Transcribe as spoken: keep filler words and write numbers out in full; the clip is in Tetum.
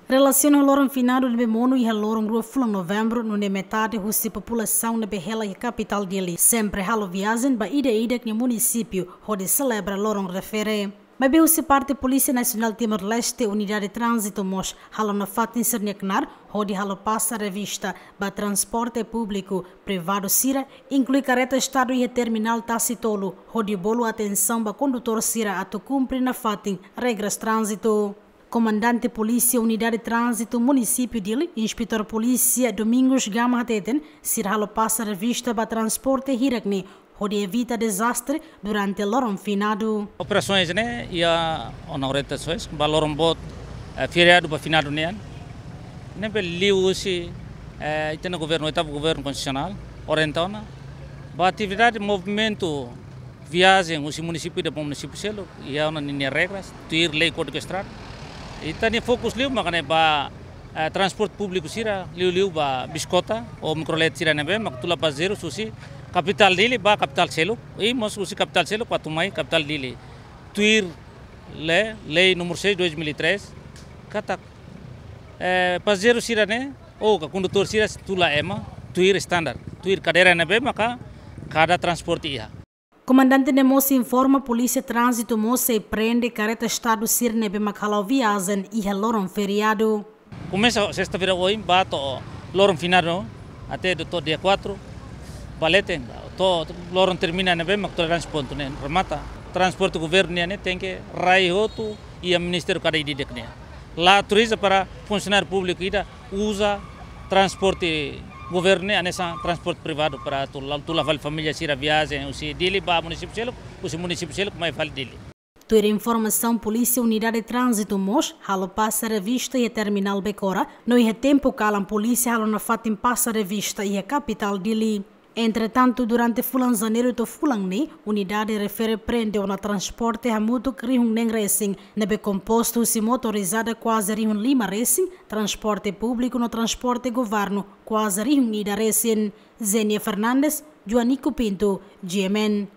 Relasiona ho loron finadu ne'ebé monu iha loron rua fulan Novembru, nune'e metade husi populasaun ne'ebé hela iha kapitál Dili sempre halo viajen ba ida-idak nia munisípiu hodi selebra loron refere. Maibé husi parte Polísia Nasionál Timor-Leste, Unidade Tránzitu mós halo nafatin sira-nia knaar hodi halo pasa revista ba transporte públiku privadu sira, inklui kareta Estadu iha terminál Tasi Tolu, hodi bolu atensaun ba kondutór sira atu kumpre nafatin regras tránzitu. Komandante Polísia Unidade Tránzitu Munisípiu Dili, Inspetór Polísia Domingos Gama hateten, sira halo pasa revista ba transporte hirak-ne'e hodi evita dezastre durante loron finadu. Operasaun ne'e iha ona orientasaun ba loron boot, eh, feriadu ba finadu nian. Ne'ebé liuhusi, eh, ita-nia governu, oitavu governu konstitusionál orienta ona ba atividade movimentu viajen husi munisípiu ida ba munisípiu seluk iha ona ninia regras, tuir lei Kódigu Estrada. Ita-nia fokus liu mak ne'e ba, eh, transporte públiku sira, liuliu ba biskota ou mikrolet sira ne'ebé mak tula pasajeiru husi kapitál Dili ba kapitál seluk, i mós husi kapitál seluk atu mai kapitál Dili. Tuir lei, lei númeru seis dois mil e três, katak, eh, pasajeiru sira-ne'e ou ka kondutór sira tula ema tuir estandar, tuir kadeira ne'ebé maka kada transporte iha. Komandante ne'e mós informa Polísia Tránzitu mós sei prende kareta Estadu sira ne'ebé mak hala'o viajen iha loron feriadu. Komesa sesta-feira ohin ba to'o loron finadu, até to'o dia quatro, ba leten, to'o loron termina ne'ebé mak toleránsia pontu ne'e remata. Transporte governu nian ne'e tenke rai hotu iha ministériu kada ida-idak nian. La autoriza para funsionáriu públiku ida uza transporte governu ne'e hanesan transporte privadu para tula, tula fali família sira viajen husi Dili ba munisípiu seluk, husi munisípiu seluk mai fali Dili. Tuir informasaun polísia, Unidade Tránzitu mós halo pasa revista iha terminál Becora, no iha tempu kalan polísia halo nafatin pasa revista iha kapitál Dili. Entretantu, durante fulan Janeiru to'o fulan ne'e, unidade refere prende ona transporte hamutuk rihun neen resin, ne'ebé kompostu husi motorizada kuaze rihun lima resin, transporte públiku no transporte governu kuaze rihun ida resin. Zenia Fernandes, Joanico Pinto, G M N.